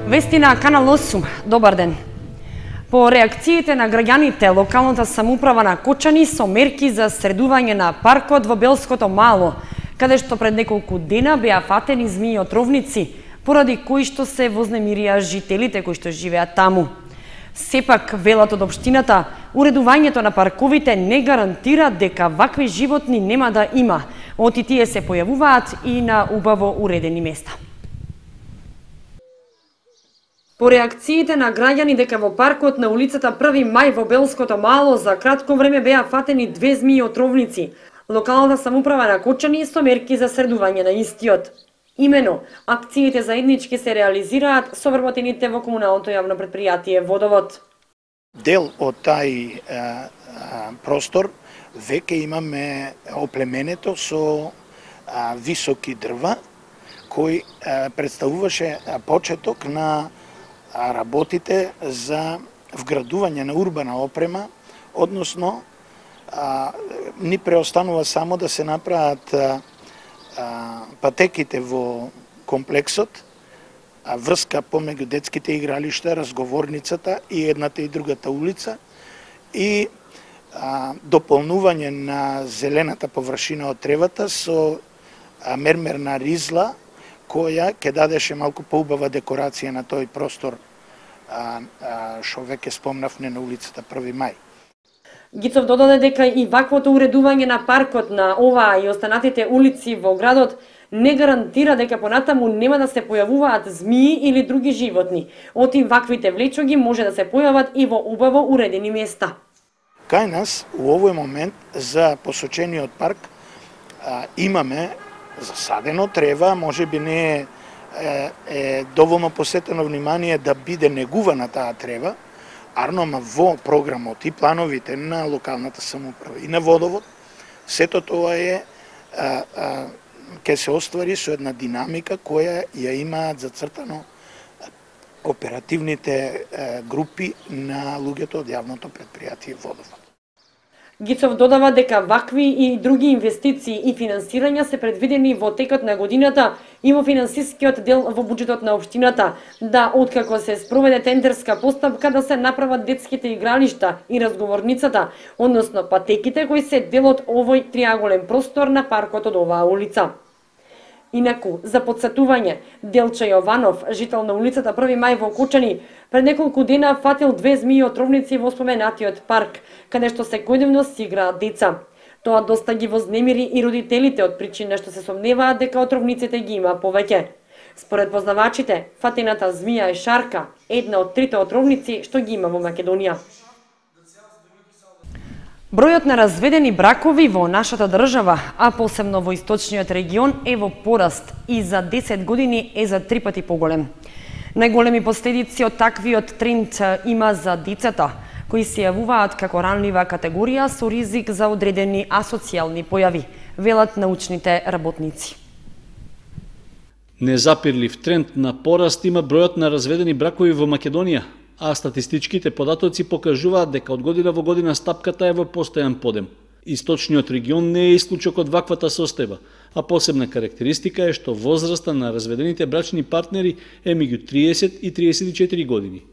Вести на Канал 8. Добар ден. По реакциите на граѓаните, локалната самоуправа на Кочани со мерки за средување на паркот во Белското мало, каде што пред неколку дена беа фатени змии отровници, поради кои што се вознемирија жителите кои што живеат таму. Сепак, велат од општината, уредувањето на парковите не гарантира дека вакви животни нема да има, оти тие се појавуваат и на убаво уредени места. По реакциите на граѓани дека во паркот на улицата 1 мај во Белското мало за кратко време беа фатени 2 змии отровници, локалната самоуправа на Кочани со мерки за средување на истиот. Имено, акциите заеднички се реализираат со вработените во комуналното јавно предпријатие Водовод. Дел од тај простор веќе имаме оплеменето со високи дрва, кој представуваше почеток на работите за вградување на урбана опрема, односно ни преостанува само да се направат патеките во комплексот, врска помеѓу детските игралишта, разговорницата и едната и другата улица и дополнување на зелената површина од тревата со мермерна ризла која ќе дадеше малку поубава декорација на тој простор што веќе спомнавме на улицата 1 мај. Гицов додаде дека и ваквото уредување на паркот на оваа и останатите улици во градот не гарантира дека понатаму нема да се појавуваат змии или други животни. Оти ваквите влечоги може да се појават и во убаво уредени места. Кај нас, у овој момент, за посочениот парк имаме засадено трева, може би не е доволно посетено внимание да биде негувана таа трева, арнома во програмот и плановите на локалната самоуправа и на Водовод, сето тоа ќе се оствари со една динамика која ја имаат зацртано оперативните групи на луѓето од јавното предпријатие Водовод. Гицов додава дека вакви и други инвестиции и финансирања се предвидени во текот на годината и во финансискиот дел во буџетот на општината, да откако се спроведе тендерска постапка да се направат детските игралишта и разговорницата, односно патеките кои се дел од овој триаголен простор на паркот од оваа улица. Инаку, за подсетување, Делча Јованов, жител на улицата 1 мај во Кочани, пред неколку дена фатил 2 змии отровници во споменатиот парк, каде што секојдневно си играат деца. Тоа доста ги вознемири и родителите од причина што се сомневаат дека отровниците ги има повеќе. Според познавачите, фатената змија е шарка, една од 3 отровници што ги има во Македонија. Бројот на разведени бракови во нашата држава, а посебно во источниот регион, е во пораст и за 10 години е за 3 пати поголем. Најголеми последици од таквиот тренд има за децата, кои се јавуваат како ранлива категорија со ризик за одредени асоцијални појави, велат научните работници. Незапирлив тренд на пораст има бројот на разведени бракови во Македонија, а статистичките податоци покажуваат дека од година во година стапката е во постојан подем. Источниот регион не е исклучок од ваквата состојба, а посебна карактеристика е што возраста на разведените брачни партнери е меѓу 30 и 34 години.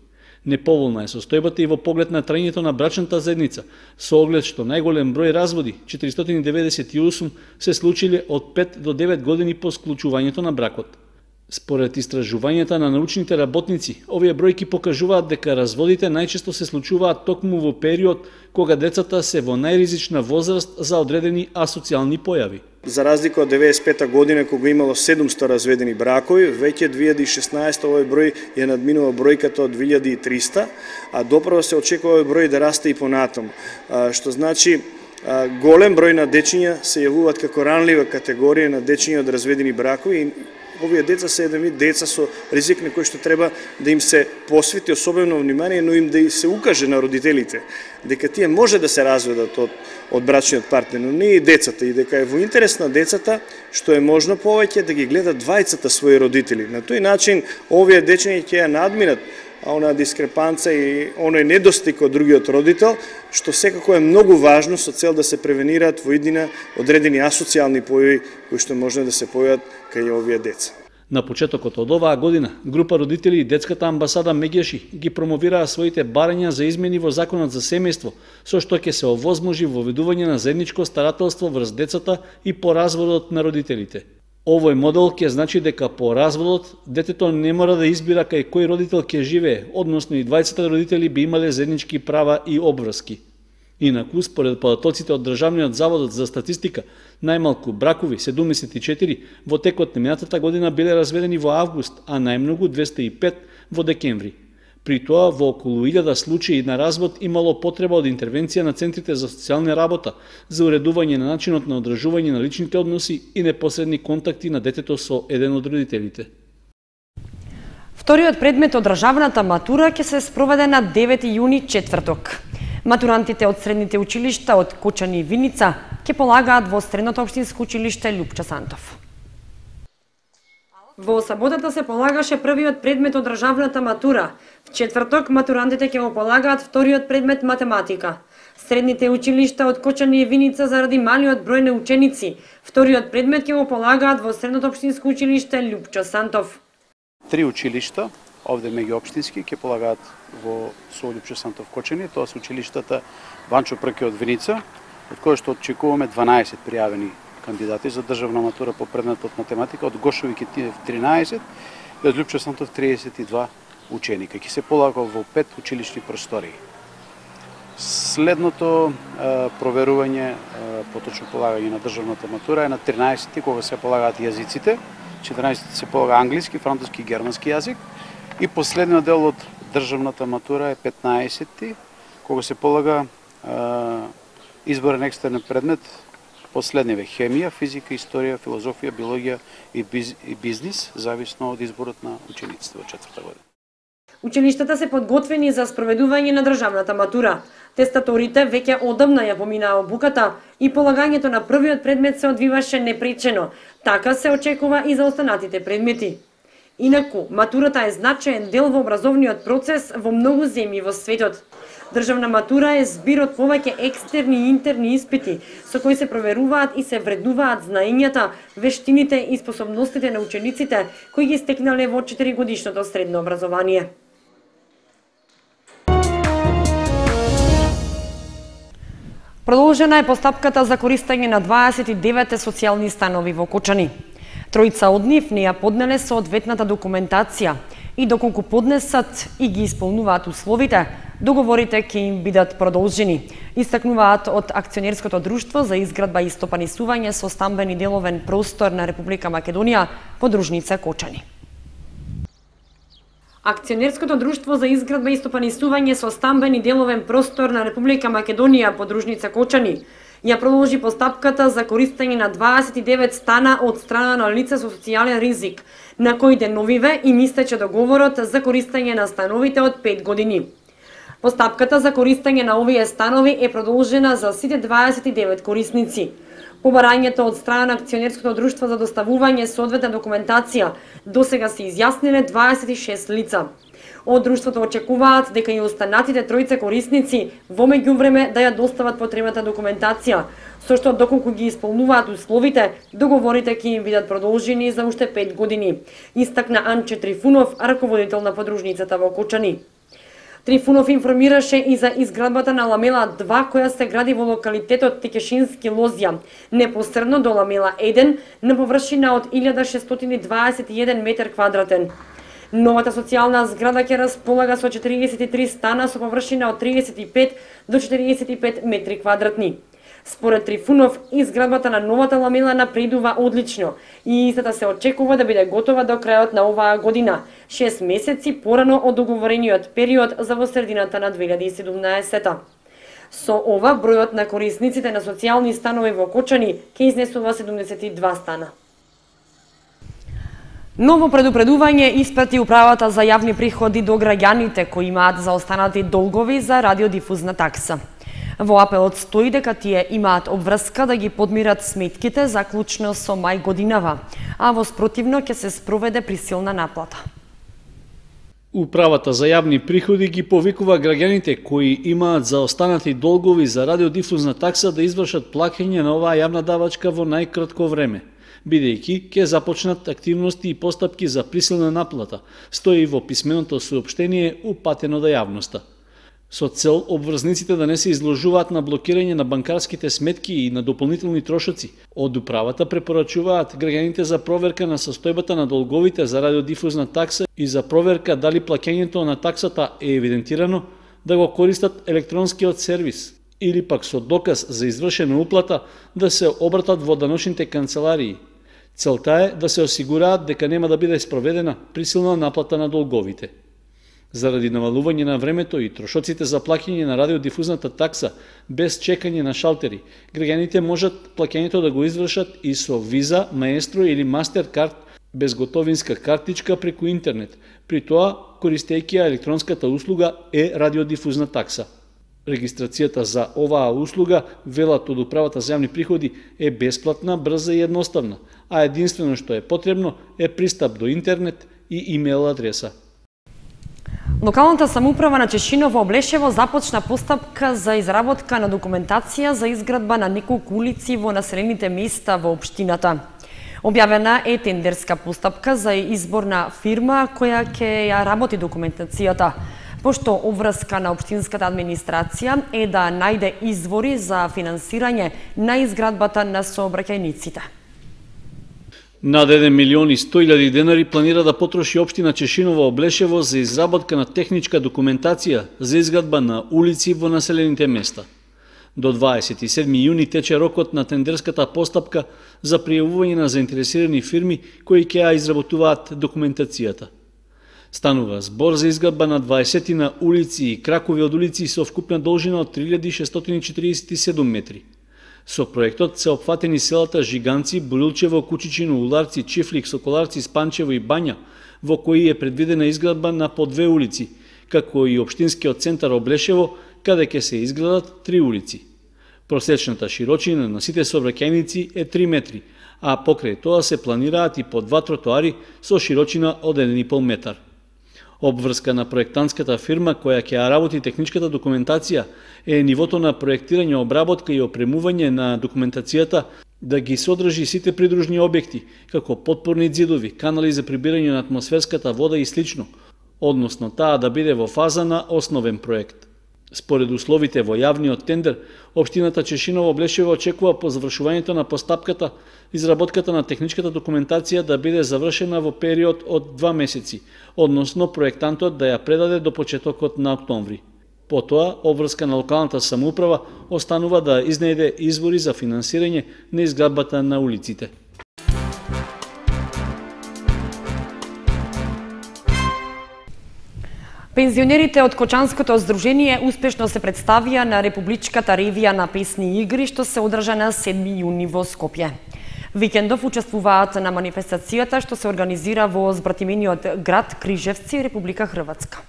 Неповолна е состојбата и во поглед на трајањето на брачната заедница, со оглед што најголем број разводи, 498, се случиле од 5 до 9 години по склучувањето на бракот. Според истражувањата на научните работници, овие бројки покажуваат дека разводите најчесто се случуваат токму во период кога децата се во најризична возраст за одредени асоцијални појави. За разлика од 95-та година кога имало 700 разведени бракови, веќе 2016 овој број ја надминува бројката од 2300, а доправо се очекува овој број да расте и понатаму, што значи голем број на дечиња се јавуваат како ранлива категорија на дечиња од разведени бракови. Овие деца се еден вид деца со ризик на кој што треба да им се посвети особено внимание, но им да се укаже на родителите дека тие може да се разведат од брачниот партнер, но не и децата, и дека е во интерес на децата што е можно повеќе да ги гледат двајцата своји родители. На тој начин овие дечиња ќе ја надминат она дискрепанца и оној недостиг од другиот родител, што секако е многу важно со цел да се превенираат во иднина одредени асоцијални појави кои што може да се појават кај овие деца. На почетокот од оваа година, група родители и детската амбасада Мегеши ги промовираа своите барања за измени во Законот за семејство, со што ќе се овозможи воведување на заедничко старателство врз децата и по разводот на родителите. Овој модел ќе значи дека по разводот детето не мора да избира кај кој родител ќе живее, односно и двајцата родители би имале заеднички права и обврски. Инаку, според податоците од Државниот завод за статистика, најмалку бракови 74 во текот на минатата година биле разведени во август, а најмногу 205 во декември. При тоа, во околу 1000 случаи на развод имало потреба од интервенција на центрите за социјална работа за уредување на начинот на одржување на личните односи и непосредни контакти на детето со еден од родителите. Вториот предмет од државната матура ќе се спроведе на 9 јуни четврток. Матурантите од средните училишта од Кочани и Виница ќе полагаат во Средното општинско училиште Лјупчо Сантов. Во саботата се полагаше првиот предмет од државната матура. В четврток матурантите ќе го полагаат вториот предмет математика. Средните училишта од Кочани и Виница заради малиот број на ученици, вториот предмет ќе го полагаат во Средното општинско училиште Лјупчо Сантов. 3 училишта овде меѓуопштински ќе полагаат во Лјупчо Сантов Кочани, тоа се училиштата Ванчо Прки од Виница, од кои што очекуваме 12 пријавени кандидати за државна матура по предметот математика, од Гошови Китиев 13 и од Лјупчо Сантов 32 ученика. Ќе се полага во 5 училишни простории. Следното проверување, поточно полагање на државната матура е на 13 кога се полагаат јазиците, 14 се полага англиски, француски и германски јазик, и последниот дел од државната матура е 15 кога се полага изборен екстернен предмет, последниве хемија, физика, историја, филозофија, биологија и бизнис, зависно од изборот на учениците во четврта година. Училиштата се подготвени за спроведување на државната матура. Тестаторите веќе одамна ја поминаа обуката и полагањето на првиот предмет се одвиваше непречено. Така се очекува и за останатите предмети. Инаку, матурата е значаен дел во образовниот процес во многу земји во светот. Државна матура е збир од повеќе екстерни и интерни испити, со кои се проверуваат и се вреднуваат знаењата, вештините и способностите на учениците кои ги стекнале во 4-годишното средно образование. Продолжена е постапката за користење на 29 социјални станови во Кочани. Тројца од нив не ја поднеле соодветната документација и доколку поднесат и ги исполнуваат условите, договорите ќе им бидат продолжени. Истакнуваат од Акционерското друштво за изградба и стопанисување со стамбен и деловен простор на Република Македонија, подружница Кочани. Акционерското друштво за изградба и стопанисување со стамбен и деловен простор на Република Македонија, подружница Кочани, ја продолжи постапката за користење на 29 стана од страна на лица со социјален ризик, на кои деновиве им истече договорот за користење на становите од 5 години. Постапката за користење на овие станови е продолжена за сите 29 корисници. По барањето од страна на Акционерското друштво за доставување соодветна документација, досега се изјасниле 26 лица. Од друштвото очекуваат дека и останатите тројца корисници во меѓувреме да ја достават потребната документација, со што доколку ги исполнуваат условите, договорите ќе им бидат продолжени за уште 5 години, истакна Анче Трифунов, раководител на подружницата во Кочани. Трифунов информираше и за изградбата на ламела 2 која се гради во локалитетот Текешински Лозја, непосредно до ламела 1 на површина од 1621 метар квадратен. Новата социјална зграда ќе располага со 43 стана со површина од 35 до 45 метри квадратни. Според Трифунов, изградбата на новата ламела напредува одлично и истата се очекува да биде готова до крајот на оваа година, 6 месеци порано од договорениот период за во средината на 2017. Со ова, бројот на корисниците на социјални станови во Кочани ќе изнесува 72 стана. Ново предупредување испрати Управата за јавни приходи до граѓаните кои имаат заостанати долгови за радиодифузна такса. Во апелот стои дека тие имаат обврска да ги подмират сметките заклучно со мај годинава, а во спротивно ќе се спроведе присилна наплата. Управата за јавни приходи ги повикува граѓаните кои имаат заостанати долгови за радиодифузна такса да извршат плаќање на оваа јавна давачка во најкратко време. бидејќи ќе започнат активности и постапки за присилна наплата, стои во писменото соопштение упатено до јавноста. Со цел обврзниците да не се изложуваат на блокирање на банкарските сметки и на дополнителни трошоци, од управата препорачуваат граѓаните за проверка на состојбата на долговите за радиодифузна такса и за проверка дали плаќањето на таксата е евидентирано, да го користат електронскиот сервис или пак со доказ за извршена уплата да се обратат во даночните канцеларии. Целта е да се осигураат дека нема да биде спроведена присилна наплата на долговите. Заради навалување на времето и трошоците за плаќање на радиодифузната такса без чекање на шалтери, граѓаните можат плаќањето да го извршат и со Виза, Маестро или Мастеркард без готовинска картичка преку интернет, при тоа користејќи електронската услуга радиодифузна такса. Регистрацијата за оваа услуга, велат од управата за јавни приходи, е бесплатна, брза и едноставна, а единствено што е потребно е пристап до интернет и имейл адреса. Локалната самоуправа на Чешиново Облешево започна постапка за изработка на документација за изградба на неколку улици во населените места во општината. Објавена е тендерска постапка за избор на фирма која ќе ја работи документацијата, пошто обврска на општинската администрација е да најде извори за финансирање на изградбата на сообраќајниците. Над 1.100.000 денари планира да потроши општина Чешиново Облешево за изработка на техничка документација за изградба на улици во населените места. До 27 јуни тече рокот на тендерската постапка за пријавување на заинтересирани фирми кои ќе ја изработуваат документацијата. Станува збор за изградба на 20 на улици и кракови од улици со вкупна должина од 3647 метри. Со проектот се опфатени селата Жиганци, Борилчево, Кучичино, Уларци, Чифлик, Соколарци, Спанчево и Бања, во кои е предвидена изградба на по 2 улици, како и општинскиот центар Облешево, каде ќе се изградат 3 улици. Просечната широчина на сите сообраќајници е 3 метри, а покрај тоа се планираат и по 2 тротоари со широчина од 1,5 метар. Обврска на проектантската фирма која ќе ја работи техничката документација е нивото на проектирање, обработка и опремување на документацијата да ги содржи сите придружни објекти, како потпорни ѕидови, канали за прибирање на атмосферската вода и слично, односно таа да биде во фаза на основен проект. Според условите во јавниот тендер, општината Чешиново Облешево очекува по завршувањето на постапката, изработката на техничката документација да биде завршена во период од 2 месеци, односно проектантот да ја предаде до почетокот на октомври. Потоа, обврска на локалната самоуправа останува да изнајде извори за финансирање на изградбата на улиците. Пензионерите од Кочанското здружение успешно се представија на републичката ревија на песни и игри што се одржа на 7 јуни во Скопје. Викендов учествуваат на манифестацијата што се организира во збратимениот град Крижевци, Република Хрватска.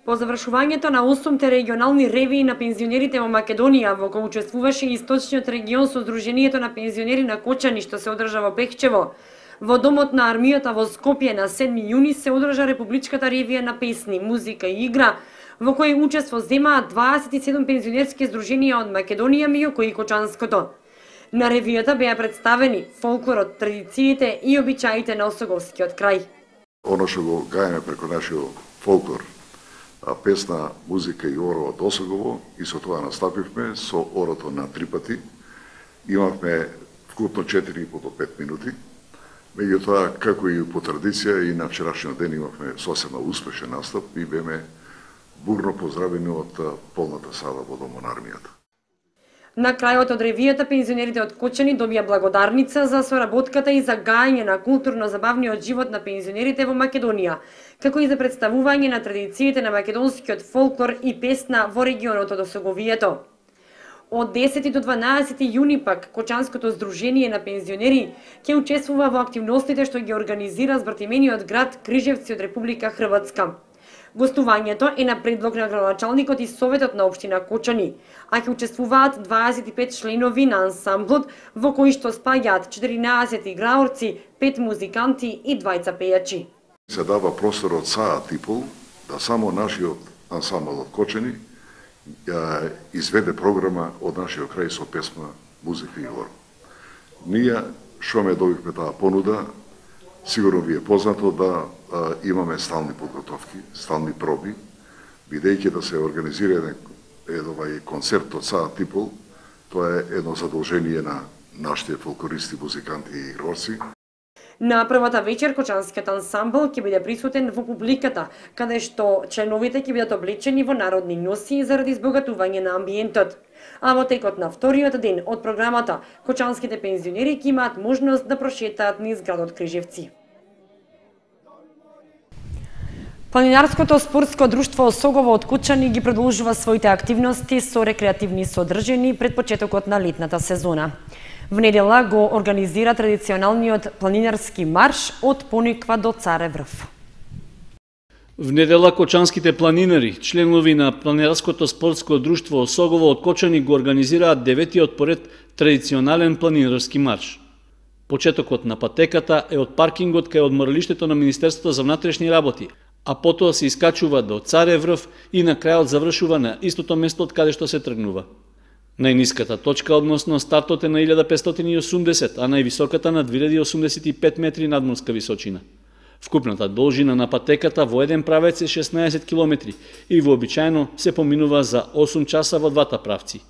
По завршувањето на 8-те регионални ревии на пензионерите во Македонија, во кој учествуваше и источниот регион со Здруженијето на пензионери на Кочани што се одржа во Пехчево, во Домот на армијата во Скопје на 7 јуни се одржа републичката ревија на песни, музика и игра, во кој учество земаат 27 пензионерски здруженија од Македонија, меѓу кои Кочанското. На ревијата беа представени фолклорот, традициите и обичаите на Осоговскиот крај. Оно што го гајаме преку нашиот фолклор, песна, музика и оро од Осогово, и со тоа настапивме со орото на 3 пати. Имавме вкупно 4,5 до 5 минути. Меѓутоа, како и по традиција, и на вчерашниот ден имавме сосема успешен настап и беме бурно поздравени од полната сала во Домот на армијата. На крајот од ревијата, пензионерите од Кочани добија благодарница за соработката и за гајање на културно-забавниот живот на пензионерите во Македонија, како и за представување на традициите на македонскиот фолклор и песна во регионот од Осоговието. Од 10 до 12 јуни пак, Кочанското здружение на пензионери ќе учествува во активностите што ги организира збратимениот град Крижевци од Република Хрватска. Гостувањето е на предлог на градоначалникот и Советот на општина Кочани, а ќе учествуваат 25 членови на ансамблот, во кои што спаѓаат 14 играорци, 5 музиканти и 2 пејачи. Се дава простор од саат и пол да само нашиот ансамбл од Кочани изведе програма од нашиот крај со песма, музика и оро. Ние што ме добивме таа понуда, сигурно ви е познато да имаме стални подготовки, стални проби, бидејќи да се организира еден концерт од саат и пол, тоа е едно задолжение на нашите фолклористи, музиканти и игрорци. На првата вечер кочанскиот ансамбл ќе биде присутен во публиката, каде што членовите ќе бидат облечени во народни носи заради избогатување на амбиентот. А во текот на вториот ден од програмата, кочанските пензионери ќе имаат можност да прошетаат низ градот Крижевци. Планинарското спортско друштво Осогово од Кочани ги продолжува своите активности со рекреативни содржини пред почетокот на летната сезона. В недела го организира традиционалниот планинарски марш од Пониква до Царев врв. В недела кочанските планинари, членови на Планинарското спортско друштво Осогово од Кочани го организираат 9-тиот поред традиционален планинарски марш. Почетокот на патеката е од паркингот кај одморалиштето на Министерството за внатрешни работи, а потоа се искачува до Царев врв и на крајот завршува на истото место од каде што се тргнува. Најниската точка, односно стартот е на 1580, а највисоката на 2085 метри надморска височина. Вкупната должина на патеката во еден правец е 16 километри и вообичаено се поминува за 8 часа во двата правци.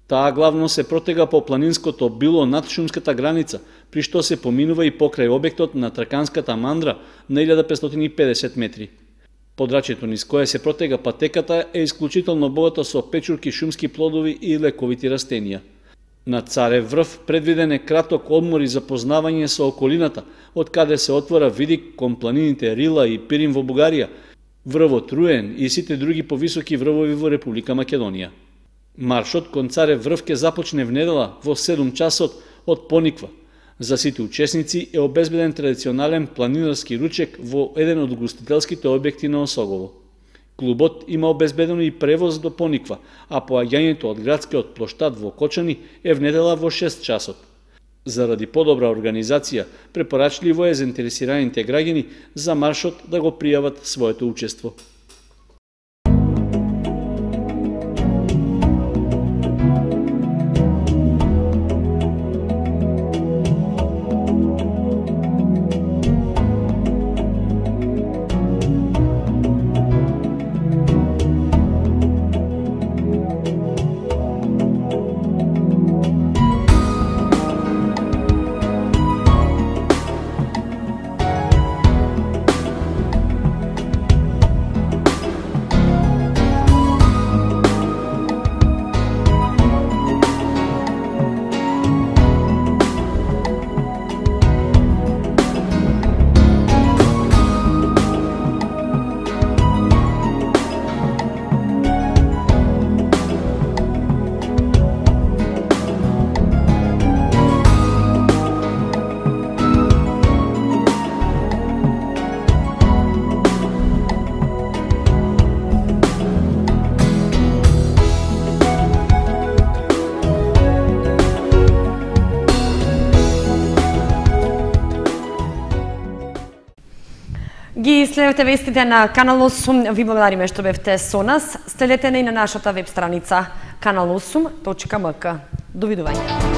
Таа главно се протега по планинското било над шумската граница, при што се поминува и покрај објектот на Траканската мандра на 1550 метри. Подрачјето низ кое се протега патеката е исклучително богато со печурки, шумски плодови и лековити растенија. На Царев врв предвиден е краток одмор и запознавање со околината, од каде се отвора видик кон планините Рила и Пирин во Бугарија, врвот Руен и сите други повисоки врвови во Република Македонија. Маршот кон Царев врв ќе започне в недела во 7 часот од Пониква. За сите учесници е обезбеден традиционален планинарски ручек во еден од угостителските објекти на Осогово. Клубот има обезбедено и превоз до Пониква, а поаѓањето од градскиот плоштад во Кочани е в недела во 6 часот. Заради подобра организација, препорачливо е заинтересираните граѓани за маршот да го пријават своето учество. Ги следете вестите на Канал 8. Ви благодариме што бевте со нас. Следете не и на нашата веб страница kanal8.mk. Довидување.